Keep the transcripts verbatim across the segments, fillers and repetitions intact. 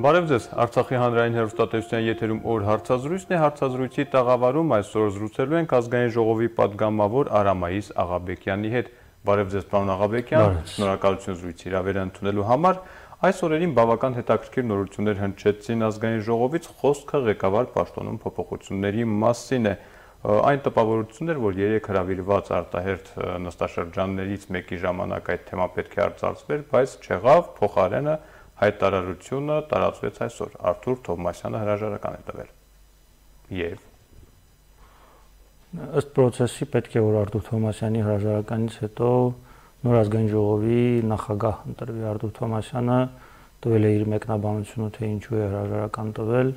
Բարև ձեզ, Արցախի հանրային հեռուստատեսության եթերում օր հարցազրույցն է, հարցազրույցի տաղավարում այսօր զրուցելու ենք ազգային ժողովի պատգամավոր Արամայիս Աղաբեկյանի հետ։ Բարև ձեզ, պարոն Աղաբեկյան, շնորհակալություն զրույցի հրավերը ընդունելու համար։ Այս օրերին բավական հետաքրքիր նորություններ հնչեցին ազգային ժողովից, խոսքը ղեկավար պաշտոնում փոփոխությունների մասին է։ Այն տպավորությունն էր, որ երեք հրավիրված արտահերթ նստաշրջաններից մեկի ժամանակ այդ թեման պետք է արծարծվեր, բայց չեղավ, փոխարենը հայտարարությունը տարածվեց այսօր, Արթուր Թովմասյանը հրաժարական է տվել։ Եվ ըստ process-ի պետք է որ Արթուր Թովմասյանի հրաժարականից հետո նոր ազգային ժողովի նախագահ ընտրվի։ Արթուր Թովմասյանը տվել է իր մեկնաբանությունը, թե ինչու է հրաժարական տվել,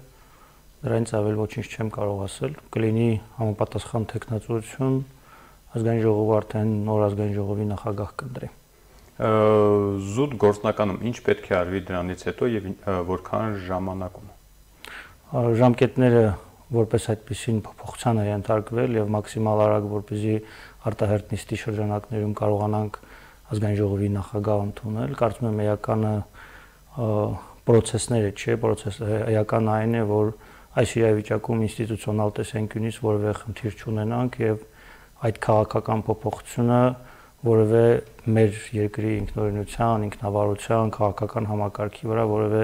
դրանից ավել ոչինչ չեմ կարող ասել։ Կլինի համապատասխան տեխնացություն, ազգային ժողովը արդեն նոր ազգային ժողովի նախագահ կընտրի։ Զուտ գործնականում ինչ պետք է արվի դրանից հետո եւ որքան ժամանակում։ Ժամկետները որպես այդպեսին փոփոխության է ենթարկվել եւ մաքսիմալ արագ, որպեսզի արտահերթ նիստի շրջանակներում կարողանանք ազգային ժողովի նախագահ ընդունել։ Կարծում եմ էականը process-ները չէ, process-ը էական այն է, որ այս իրավիճակում ինստիտուցիոնալ տեսանկյունից որևէ խնդիր չունենանք եւ այդ քաղաքական փոփոխությունը որևէ մեր երկրի ինքնորոշության, ինքնավարության, քաղաքական համակարգի վրա որևէ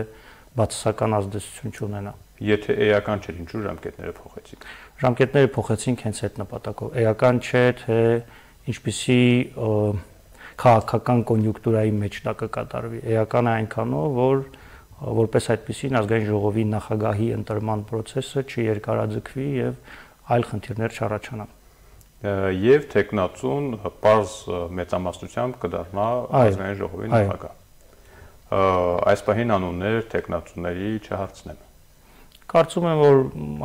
բացասական ազդեցություն չունենա։ Եթե էական չէր, ինչու ժամկետները փոխեցիք։ Ժամկետները փոխեցինք հենց այդ նպատակով։ Էական չէ, թե ինչպիսի քաղաքական կոնյունկտուրայի մեջ դա կկատարվի։ Էական է այնքանով, որ որպես այդպեսին ազգային ժողովի նախագահի ընտրման process-ը չերկարաձգվի եւ այլ խնդիրներ չառաջանան։ Եվ տեխնացուն պարզ մեծամասնությամբ կդառնա ազգային ժողովի նախագահ։ Այս պահին անուններ տեխնացուների չհարցնեմ։ Կարծում եմ, որ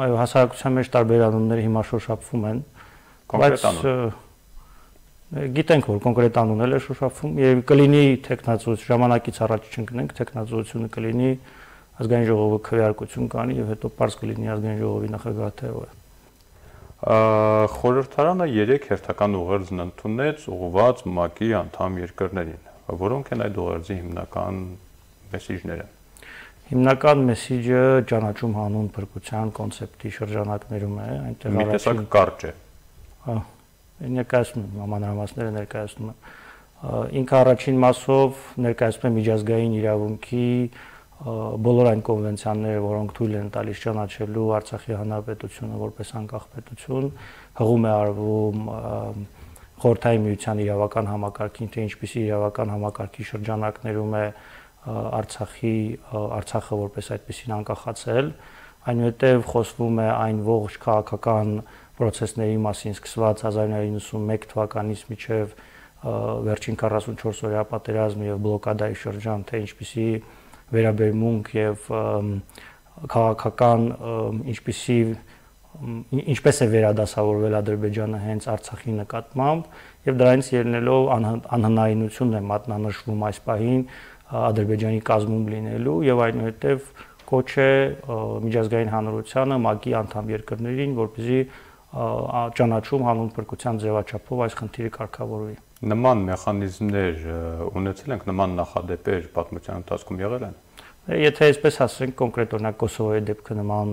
այո, հասարակության մեջ տարբեր անուններ հիմա շոշափվում են, բայց գիտենք, որ կոնկրետ անուններ է շոշափվում եւ կլինի տեխնացուց ժամանակից առաջ չընկնենք, տեխնացությունը կլինի ազգային ժողովը քվեարկություն կանի եւ հետո պարզ կլինի ազգային ժողովի նախագահը թե ով է։ Խորհրդարանը երեք հերթական ուղերձ ընդունեց ուղղված ՄԱԿ-ի անդամ երկրներին, որոնք են այդ ուղերձի հիմնական մեսիջները։ Հիմնական մեսիջը ճանաչում հանուն փրկության կոնցեպտի շրջանակներում է, այնտեղ մի տեսակ կարճ է։ Հա, ներկայացնում եմ մանրամասները ներկայացնում եմ։ Ինքը առաջին մասով ներկայացնում է միջազգային իրավունքի բոլոր այն կոնվենցիաները, որոնք թույլ են տալիս ճանաչելու Արցախի հանրապետությունը որպես անկախ պետություն, հղում է արվում Խորհրդային միության իրավական համակարգին, թե ինչպիսի իրավական համակարգի շրջանակներում է Արցախի Արցախը որպես այդպեսին անկախացել, այնուհետև խոսվում է այն ողջ քաղաքական process-ների մասին սկսված հազար նույնսուն իննսունմեկ թվականից մինչև վերջին քառասունչորս օրյա պատերազմը եւ բլոկադայի շրջան, թե ինչպիսի վերաբերմունք եւ քաղաքական ինչպիսի ինչպես է վերադասավորվել Ադրբեջանը հենց Արցախի նկատմամբ եւ դրանից ելնելով անհնարինությունն է մատնանշվում այս պահին Ադրբեջանի կազմում լինելու եւ այնուհետեւ կոչ է միջազգային հանրությանը ՄԱԿ-ի անդամ երկրներին, որպեսզի ճանաչում հանուն փրկության ձևաչափով այս խնդիրը կարգավորվի։ Նման մեխանիզմներ ունեցել ենք, նման նախադեպեր պատմության ընթացքում եղել են։ Եթե այսպես ասենք, կոնկրետ օրինակ Կոսովոյի դեպքը նման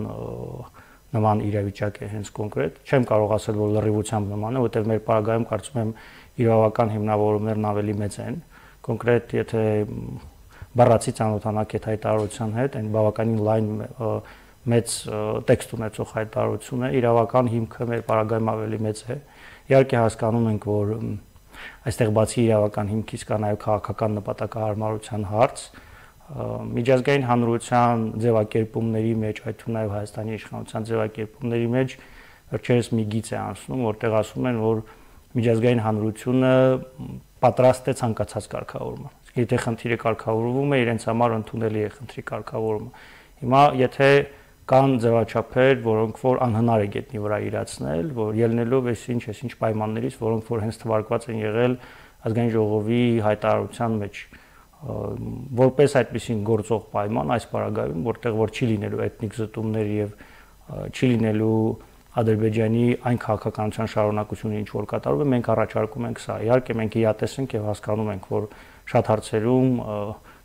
նման իրավիճակ է հենց կոնկրետ, չեմ կարող ասել, որ լրիվությամբ նման է, որտեղ մեր պարագայում կարծում եմ իրավական հիմնավորումներն ավելի մեծ են։ Կոնկրետ եթե բառացի ծանոթանաք այդ հայտարարության հետ, այն բավականին լայն մեծ տեքստ ունեցող հայտարարություն է, իրավական հիմքը մեր պարագայում ավելի մեծ է։ Իհարկե հասկանում ենք, որ այստեղ բացի իրավական հիմքից կա նաև քաղաքական նպատակահարմարության հարց, միջազգային հանրության ձևակերպումների մեջ, այդ թվում նաև Հայաստանի իշխանության ձևակերպումների մեջ վերջերս մի գիծ է անցնում, որտեղ ասում են, որ միջազգային հանրությունը պատրաստ է ցանկացած կարգավորման։ Եթե խնդիրը կարգավորվում է, իրենց համար ընդունելի է խնդրի կարգավորումը։ Հիմա եթե կան ձևաչափեր, որոնք որ անհնար է գետնի վրա իրացնել, որ ելնելով այս ինչ այս ինչ պայմաններից, որոնք որ հենց թվարկված են եղել ազգային ժողովի հայտարարության մեջ, որպես այդպեսին գործող պայման այս պարագայում, որտեղ որ չի լինելու էթնիկ զտումներ եւ չի լինելու Ադրբեջանի այն քաղաքականության շարունակությունը, ինչ որ կատարվում է, մենք առաջարկում ենք սա։ Իհարկե մենք իրատես ենք եւ հասկանում ենք, որ շատ հարցերում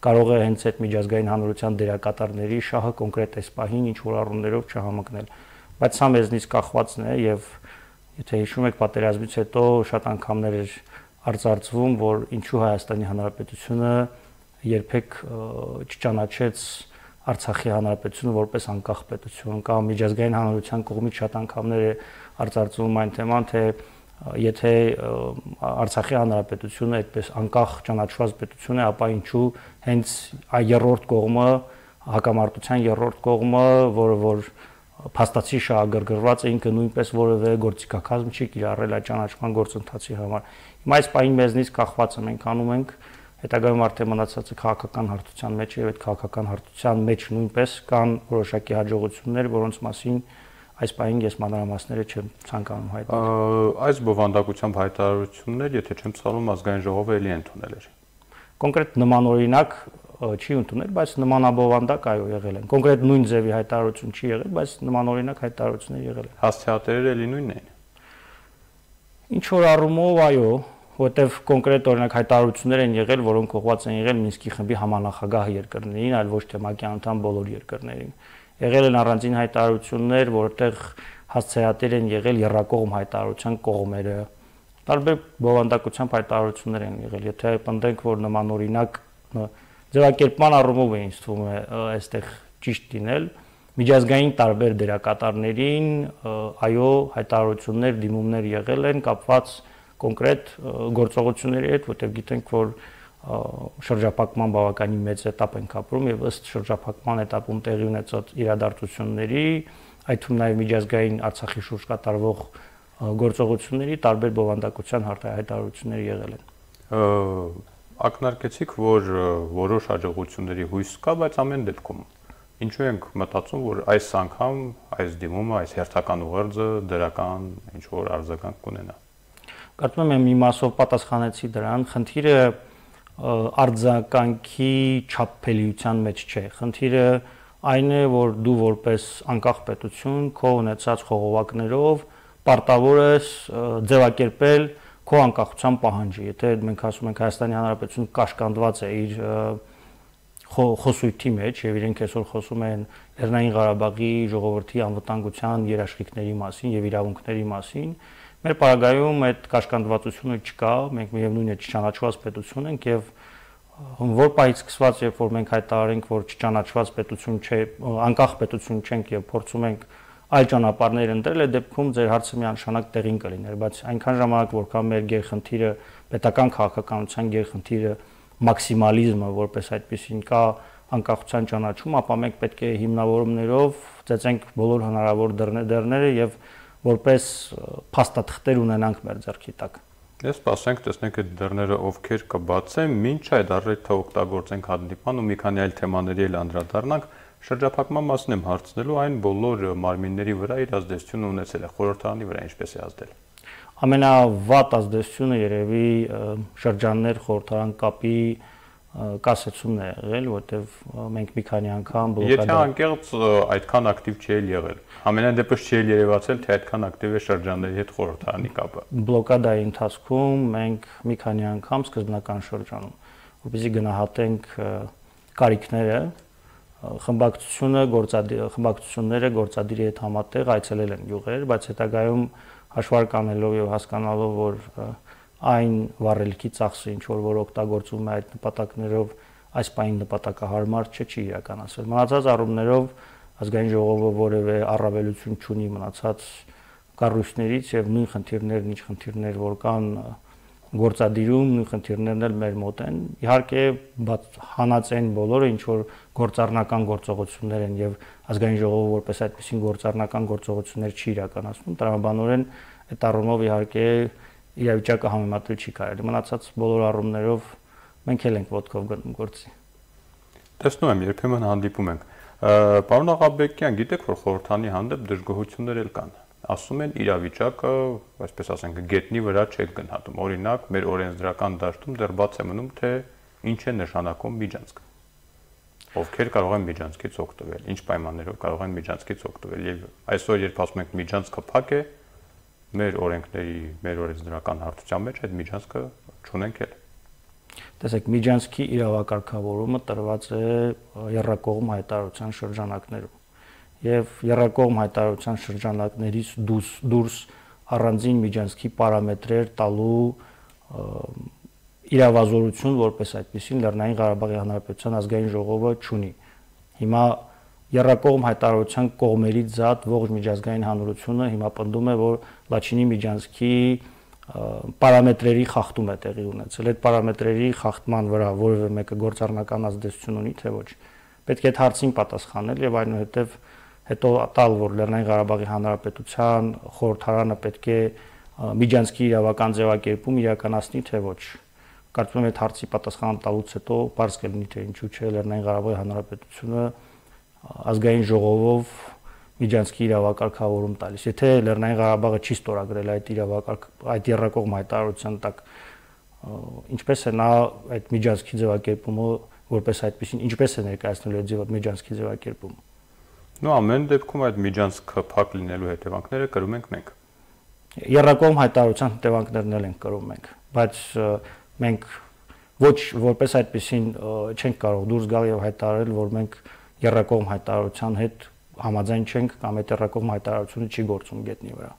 կարող է հենց այդ միջազգային հանրության դերակատարների շահը կոնկրետ այս պահին ինչ որ առումներով չհամընկնել։ Բայց սա մեզնից կախվածն է եւ եթե հիշում եք պատերազմից հետո շատ անգամներ էր արձարծվում, որ ինչու Հայաստանի Հանրապետությունը երբեք չճանաչեց Արցախի Հանրապետությունը որպես անկախ պետություն, կամ միջազգային հանրության կողմից շատ անգամներ է արձարծվում այն թեման, թե եթե Արցախի Հանրապետությունը այդպես անկախ ճանաչված պետություն է, ապա ինչու հենց այդ երրորդ կողմը, հակամարտության երրորդ կողմը, որը որ փաստացի շահագրգռված է, ինքը նույնպես որևէ գործիքակազմ չի կիրառել այդ ճանաչման գործընթացի համար։ Հիմա այս պահին մեզնից կախվածը մենք անում ենք, հետագայում արդեն մնացածը քաղաքական հարթության մեջ է, եւ այդ քաղաքական հարթության մեջ նույնպես կան որոշակի հաջողություններ, որոնց մասին այս պահին ես մանրամասները չեմ ցանկանում հայտնել։ Այս բովանդակությամբ հայտարարություններ, եթե չեմ սխալվում, ազգային ժողովը էլի ընդունել էր։ Կոնկրետ նմանօրինակ չի ընդունել, բայց նմանաբովանդակ այո եղել են։ Կոնկրետ նույն ձևի հայտարարություն չի եղել, բայց նմանօրինակ հայտարարություններ եղել են։ Հասցեատերերը էլի նույնն էին։ Ինչ որ առումով այո, որտեվ կոնկրետ օրինակ հայտարարություններ են եղել, որոնք ուղղված են եղել Մինսկի խմբի համանախագահ երկրներին, այլ ոչ թե ՄԱԿ-ի անդամ բոլոր երկրներին։ Եղել են առանձին հայտարարություններ, որտեղ հասցեատեր են եղել եռակողմ հայտարարության կողմերը։ Տարբեր բովանդակությամբ հայտարարություններ են եղել։ Եթե պնդենք, որ նմանօրինակ ձևակերպման առումով է ինձ թվում է այստեղ ճիշտ լինել, միջազգային տարբեր դերակատարներին այո հայտարարություններ, դիմումներ եղել են կապված կոնկրետ գործողությունների հետ, որտեղ գիտենք, որ շրջափակման բավականին մեծ этап ենք ապրում եւ ըստ շրջափակման этаպում տեղի ունեցած իրադարձությունների, այդ թվում նաեւ միջազգային Արցախի շուրջ կատարվող գործողությունների տարբեր բովանդակության հայտարարություններ եղել են։ Ակնարկեցիք, որ որոշ հաջողությունների հույս կա, բայց ամեն դեպքում ինչու ենք մտածում, որ այս անգամ այս դիմումը, այս հերթական ուղերձը դրական ինչ որ արձագանք կունենա։ Կարծում եմ մի մասով պատասխանեցի դրան, խնդիրը արձագանքի չափելիության մեջ չէ։ Խնդիրը այն է, որ դու որպես անկախ պետություն քո ունեցած խողովակներով պարտավոր ես ձևակերպել քո անկախության պահանջը։ Եթե մենք ասում ենք Հայաստանի Հանրապետությունը կաշկանդված է իր խոսույթի մեջ եւ իրենք այսօր խոսում են Լեռնային Ղարաբաղի ժողովրդի անվտանգության երաշխիքների մասին եւ իրավունքների մասին, մեր պարագայում այդ կաշկանդվածությունը չկա, մենք միևնույն է չճանաչված պետություն ենք եւ որ պահից սկսված, երբ որ մենք հայտարարենք, որ չճանաչված պետություն չէ, անկախ պետություն չենք եւ փորձում ենք այլ ճանապարհներ ընտրել, այդ դեպքում ձեր հարցը միանշանակ տեղին կլիներ, բայց այնքան ժամանակ որքան մեր գերխնդիրը պետական քաղաքականության գերխնդիրը մաքսիմալիզմը որպես այդպեսին կա անկախության ճանաչում, ապա մենք պետք է հիմնավորումներով ծեծենք բոլոր հնարավոր դռները եւ որպես փաստաթղթեր ունենանք մեր ձեռքի տակ։ Ես սպասենք, տեսնենք այդ դռները ովքեր կբացեն, մինչ այդ առիթը օգտագործենք հանդիպան ու մի քանի այլ թեմաների էլ անդրադառնանք։ Շրջափակման մասն եմ հարցնելու, այն բոլոր մարմինների վրա իր ազդեցությունը ունեցել է, խորհրդարանի վրա ինչպես է ազդել։ Ամենավատ ազդեցությունը երևի շրջաններ խորհրդարան կապի կասեցումն է եղել, որտեվ մենք մի քանի անգամ բլոկադա։ Եթե անկեղծ այդքան ակտիվ չէ եղել։ Ամենայն դեպս չի երևացել, թե այդքան ակտիվ է շրջանների հետ խորհրդարանի կապը։ Բլոկադայի ընթացքում մենք մի քանի անգամ սկզբնական շրջանում, որպեսզի գնահատենք կարիքները, խմբակցությունը գործադիր խմբակցությունները գործադիրի հետ համատեղ այցելել են յուղեր, բայց հետագայում հաշվարկ անելով եւ հասկանալով, որ այն վառելիքի ծախսը, ինչ որ որ օգտագործվում է այդ նպատակներով, այս պահին նպատակահարմար չէ, չի իրականացվել։ Մնացած առումներով ազգային ժողովը որևէ առավելություն չունի մնացած կառույցներից եւ նույն խնդիրներն, ինչ խնդիրներ որ կան գործադիրում, նույն խնդիրներն էլ մեր մոտ են։ Իհարկե, հանած են բոլորը, ինչ որ գործառնական գործողություններ են եւ ազգային ժողովը որպես այդպեսին գործառնական գործողություններ չի իրականացնում, տրամաբանորեն այդ առումով իհարկե իրավիճակը համեմատել չի կարելի։ Մնացած բոլոր առումներով մենք էլ ենք ոտքով գնում գործի։ Տեսնում եմ, երբեմն հանդիպում ենք։ Պարոն Աղաբեկյան, գիտեք, որ խորհրդանի հանդեպ դժգոհություններ էլ կան։ Ասում են իրավիճակը, այսպես ասենք, գետնի վրա չեք գնահատում։ Օրինակ, մեր օրենսդրական դաշտում դեռ բաց է մնում, թե ինչ է նշանակում միջանցք։ Ովքեր կարող են միջանցքից օգտվել, ինչ պայմաններով կարող են միջանցքից օգտվել։ Եվ այսօր, երբ ասում ենք միջանցքը փակ է, մեր օրենքների, մեր օրենսդրական հարթության մեջ այդ միջանցքը չունենք էլ։ Տեսեք, Միջանցքի իրավակարգավորումը տրված է եռակողմ հայտարարության շրջանակներում։ Եվ եռակողմ հայտարարության շրջանակներից դուրս, դուրս առանձին Միջանցքի պարամետրեր տալու իրավազորություն, որպես այդպեսին Լեռնային Ղարաբաղի Հանրապետության ազգային ժողովը չունի։ Հիմա եռակողմ հայտարարության կողմերից զատ ողջ միջազգային հանրությունը հիմա պնդում է, որ Լաչինի Միջանցքի պարամետրերի խախտում է տեղի ունեցել։ Այդ պարամետրերի խախտման վրա որևէ մեկը գործառնական ազդեցություն ունի, թե ոչ։ Պետք է այդ հարցին պատասխանել եւ այնուհետեւ հետո տալ, որ Լեռնային Ղարաբաղի Հանրապետության խորհրդարանը պետք է Միջանցքի իրավական ձևակերպում իրականացնի, թե ոչ։ Կարծում եմ այդ հարցի պատասխան տալուց հետո բարձ կլինի, թե ինչու՞ չէ Լեռնային Ղարաբաղի Հանրապետությունը ազգային ժողովով Միջանցքի իրավակարգավորում տալիս։ Եթե Լեռնային Ղարաբաղը չի ստորագրել այդ իրավակարգ, այդ եռակողմ հայտարարության տակ, ինչպես է նա այդ Միջանցքի ձևակերպումը որպես այդպեսին, ինչպես է ներկայացնելու այդ Միջանցքի ձևակերպումը։ Նու ամեն դեպքում այդ Միջանցքը փակ լինելու հետևանքները կրում ենք մենք։ Եռակողմ հայտարարության հետևանքներն էլ ենք կրում մենք, բայց մենք ոչ որպես այդպեսին չենք կարող դուրս գալ եւ հայտարարել, որ մենք եռակողմ հայտարարության հետ համաձայն չենք կամ այդ եռակողմ հայտարարությունը չի գործում գետնի վրա։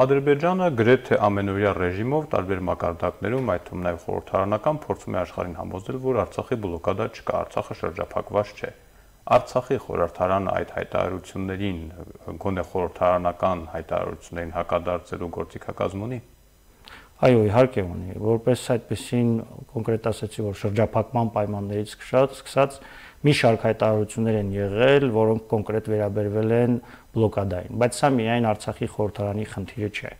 Ադրբեջանը գրեթե ամենօրյա ռեժիմով տարբեր մակարդակներում, այդ թվում նաև խորհրդարանական, փորձում է աշխարհին համոզել, որ Արցախի բլոկադա չկա, Արցախը շրջափակված չէ։ Արցախի խորհրդարանը այդ հայտարարություններին, գոնե խորհրդարանական հայտարարություններին հակադարձելու գործիքակազմ ունի։ Այո, իհարկե ունի, որպես այդպեսին կոնկրետ ասացի, որ շրջափակման պայմաններից սկսած մի շարք հայտարարություններ են եղել, որոնք կոնկրետ վերաբերվել են բլոկադային, բայց սա միայն Արցախի խորհրդարանի խնդիրը չէ։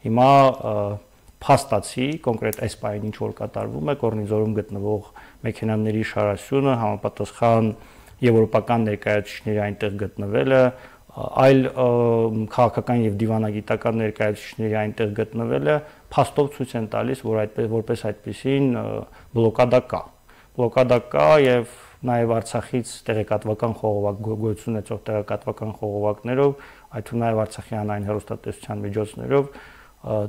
Հիմա փաստացի կոնկրետ այս պահին ինչ որ կատարվում է, Կորնիձորում գտնվող մեքենաների շարասյունը համապատասխան եվրոպական ներկայացուցիչների այնտեղ գտնվելը, այլ քաղաքական եւ դիվանագիտական ներկայացուցիչների այնտեղ գտնվելը փաստով ցույց են տալիս, որ այդպես որպես այդպեսին բլոկադա կա։ Բլոկադա կա եւ նաև Արցախից տեղեկատվական խողովակ գոյություն ունեցող տեղեկատվական խողովակներով, այդ թվում նաև Արցախի հանրային հեռուստատեսության միջոցներով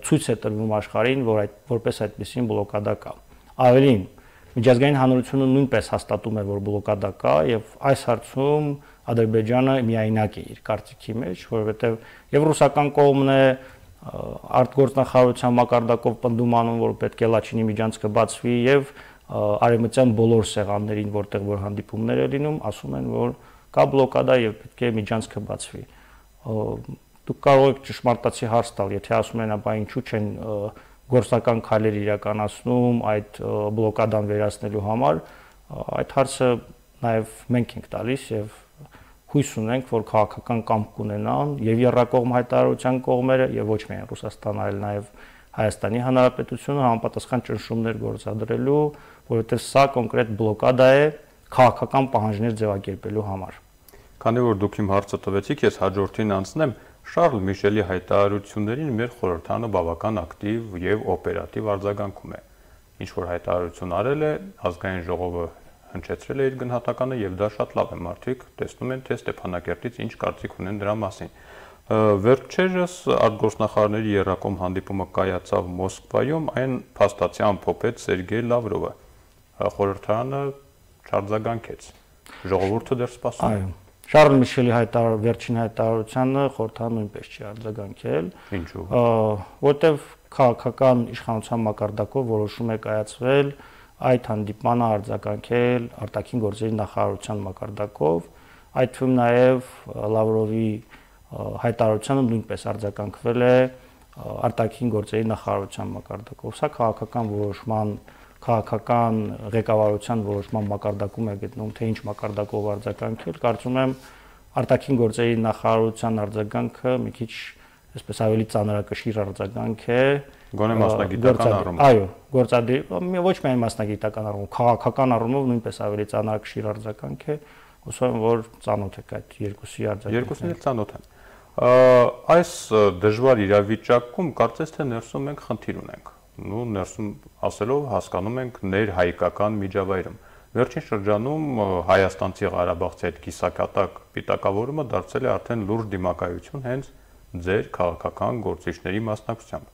ցույց է տրվում աշխարհին, որ այդ որպես այդպեսին բլոկադա կա։ Ավելին, միջազգային հանրությունը նույնպես հաստատում է, որ բլոկադա կա եւ այս հարցում Ադրբեջանը միայնակ է իր կարծիքի մեջ, որովհետեւ եւ ռուսական կողմն է արտգործնախարարության մակարդակով պնդում անում, որ պետք է Լաչինի միջանցքը բացվի եւ արևմտյան բոլոր սեղաններին, որտեղ որ հանդիպումներ է լինում, ասում են, որ կա բլոկադա եւ պետք է միջանցքը բացվի։ Դուք կարող եք ճշմարտացի հարց տալ, եթե ասում են, ապա ինչու չեն գործնական քայլեր իրականացնում այդ բլոկադան վերացնելու համար, այդ հարցը նաեւ մենք ենք տալիս եւ հույս ունենք, որ քաղաքական կամք կունենան եւ եռակողմ հայտարարության կողմերը եւ ոչ միայն Ռուսաստանը, այլ նաեւ Հայաստանի Հանրապետությունը համապատասխան ճնշումներ գործադրելու, որովհետև սա կոնկրետ բլոկադա է քաղաքական պահանջներ ձևակերպելու համար։ Քանի որ դուք իմ հարցը տվեցիք, ես հաջորդին անցնեմ Շարլ Միշելի հայտարարություններին մեր խորհրդարանը բավական ակտիվ եւ օպերատիվ արձագանքում է։ Ինչ որ հայտարարություն արել է, ազգային ժողովը հնչեցրել է իր գնահատականը եւ դա շատ լավ է, մարդիկ տեսնում են, թե Ստեփանակերտից ինչ կարծիք ունեն դրա մասին։ Վերջերս արտգործնախարարների եռակողմ հանդիպումը կայացավ Մոսկվայում, այն փաստացի ամփոփեց Սերգեյ Լավրովը։ Խորհրդարանը չարձագանքեց։ Ժողովուրդը դեռ սպասում է։ Այո։ Շարլ Միշելի հայտարար վերջին հայտարարությանը խորհրդարանը նույնպես չի արձագանքել։ Ինչու՞։ Որտեվ քաղաքական իշխանության մակարդակով որոշում է կայացվել այդ հանդիպմանը արձագանքել արտաքին գործերի նախարարության մակարդակով, այդ թվում նաև Լավրովի հայտարարությանը նույնպես արձագանքվել է արտաքին գործերի նախարարության մակարդակով։ Սա քաղաքական որոշման, քաղաքական ղեկավարության որոշման մակարդակում է գտնվում, թե ինչ մակարդակով արձագանքել, կարծում եմ արտաքին գործերի նախարարության արձագանքը մի քիչ այսպես ավելի ծանրակշիռ արձագանք է։ Գոնե մասնագիտական առումով։ Այո, գործադիր, ոչ միայն մասնագիտական առումով, քաղաքական առումով նույնպես ավելի ծանրակշիռ արձագանք է։ Հուսով եմ, որ ծանոթ եք այդ երկուսի արձագանքին։ Երկուսին էլ ծանոթ եմ։ Այս դժվար իրավիճակում կարծես թե ներսում մենք խնդիր ունենք։ Նու ներսում ասելով հասկանում ենք ներհայկական միջավայրում։ Վերջին շրջանում հայաստանցի Ղարաբաղցի այդ կիսակատակ պիտակավորումը դարձել է արդեն լուրջ դիմակայություն հենց ձեր քաղաքական գործիչների մասնակցությամբ։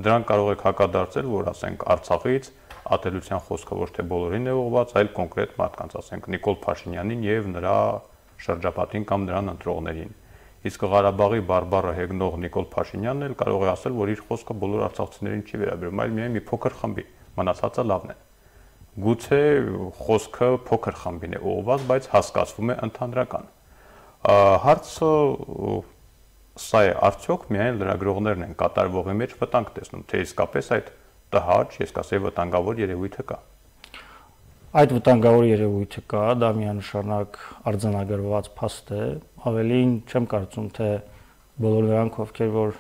Դրան կարող եք հակադարձել, որ ասենք Արցախից ատելության խոսքը ոչ թե բոլորին է ուղղված, այլ կոնկրետ մարդկանց, ասենք Նիկոլ Փաշինյանին եւ նրա շրջապատին կամ նրան ընտրողներին։ Իսկ Ղարաբաղի բարբառը հեգնող Նիկոլ Փաշինյանն էլ կարող է ասել, որ իր խոսքը բոլոր արցախցիներին չի վերաբերում, այլ միայն մի փոքր խմբի, մնացածը լավն է։ Գուցե խոսքը փոքր խմբին է ուղղված, բայց հասկացվում է ընդհանրական։ Հարցը սա է, արդյոք միայն լրագրողներն են կատարվողի մեջ վտանգ տեսնում, թե իսկապես այդ տհաճ, ես կասեի վտանգավոր երևույթը կա։ Այդ վտանգավոր երևույթը կա, դա միանշանակ արձանագրված փաստ է, ավելին չեմ կարծում, թե բոլոր նրանք, ովքեր որ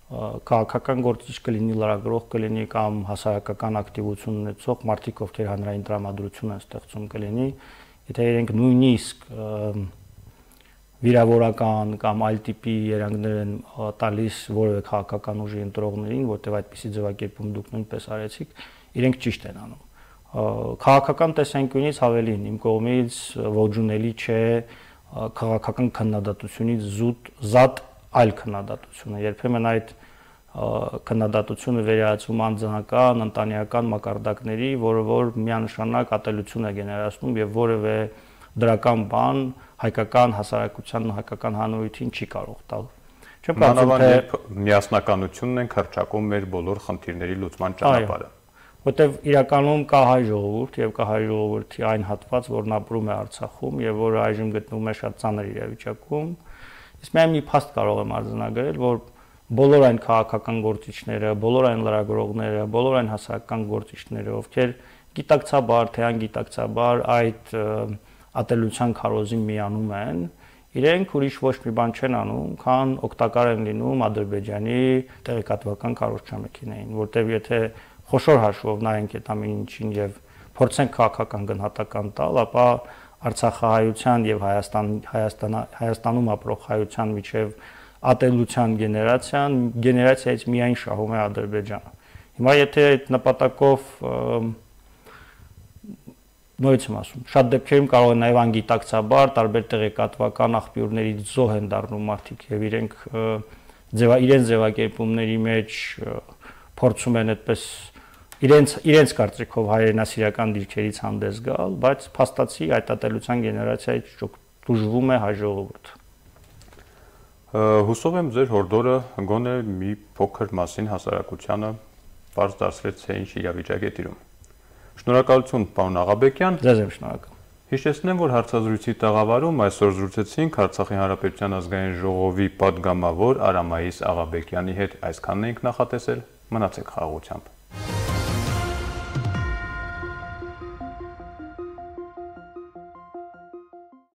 քաղաքական գործիչ կլինի, լրագրող կլինի կամ հասարակական ակտիվություն ունեցող մարդիկ, ովքեր հանրային տրամադրություն են ստեղծում կլինի, եթե իրենք նույնիսկ վիրավորական կամ այլ տիպի երանգներ են տալիս որևէ քաղաքական ուժի ընտրողներին, որտեղ այդպիսի ձևակերպում դուք նույնպես արեցիք, իրենք ճիշտ են անում։ Քաղաքական տեսանկյունից ավելին իմ կողմից ողջունելի չէ քաղաքական քննադատությունից զուտ զատ այլ քննադատությունը, երբեմն այդ քննադատությունը վերահացվում անձնական, ընտանեկան մակարդակների, որը որ միանշանակ ատելություն է գեներացնում եւ որևէ դրական բան հայկական հասարակությանն ու հայկական հանրությունին չի կարող տալ։ Չեմ կարծում, թե միասնականությունն են քրճակում մեր բոլոր խնդիրների լուծման ճանապարհը։ Որտեւ իրականում կա հայ ժողովուրդ եւ կա հայ ժողովրդի այն հատված, որն ապրում է Արցախում եւ որը այժմ գտնվում է շատ ծանր իրավիճակում։ Իսկ միայն մի փաստ կարող եմ արձանագրել, որ բոլոր այն քաղաքական գործիչները, բոլոր այն լրագրողները, բոլոր այն հասարակական գործիչները, ովքեր գիտակցաբար, թե անգիտակցաբար այդ ատելության քարոզին միանում են, իրենք ուրիշ ոչ մի բան չեն անում, քան օգտակար են լինում Ադրբեջանի տեղեկատվական քարոզչամեքենային, որտեղ եթե խոշոր հաշվով նայենք այդ ամեն ինչին եւ փորձենք քաղաքական գնահատական տալ, ապա Արցախահայության եւ Հայաստան Հայաստան Հայաստանում ապրող հայության միջև ատելության գեներացիան գեներացիայից միայն շահում է Ադրբեջանը։ Հիմա եթե այդ նպատակով նույնից եմ ասում, շատ դեպքերում կարող է նաև անգիտակցաբար տարբեր տեղեկատվական աղբյուրներից զոհ են դառնում մարդիկ եւ իրենք ձևա իրենց ձևակերպումների մեջ փորձում են այդպես իրենց իրենց կարծիքով հայրենասիրական դիրքերից հանդես գալ, բայց փաստացի այդ ատելության գեներացիայից դժվում է հայ ժողովուրդը։ Հուսով եմ ձեր հորդորը գոնե մի փոքր մասին հասարակությանը բարձ դարձրեց, թե ինչ իրավիճակ է տիրում։ Շնորհակալություն, պարոն Աղաբեկյան։ Ձեզ եմ շնորհակալ։ Հիշեցնեմ, որ հարցազրույցի տաղավարում այսօր զրուցեցինք Արցախի Հանրապետության ազգային ժողովի պատգամավոր Արամայիս Աղաբեկյանի հետ։ Այսքանն ենք նախատեսել։ Մնացեք խաղաղությամբ։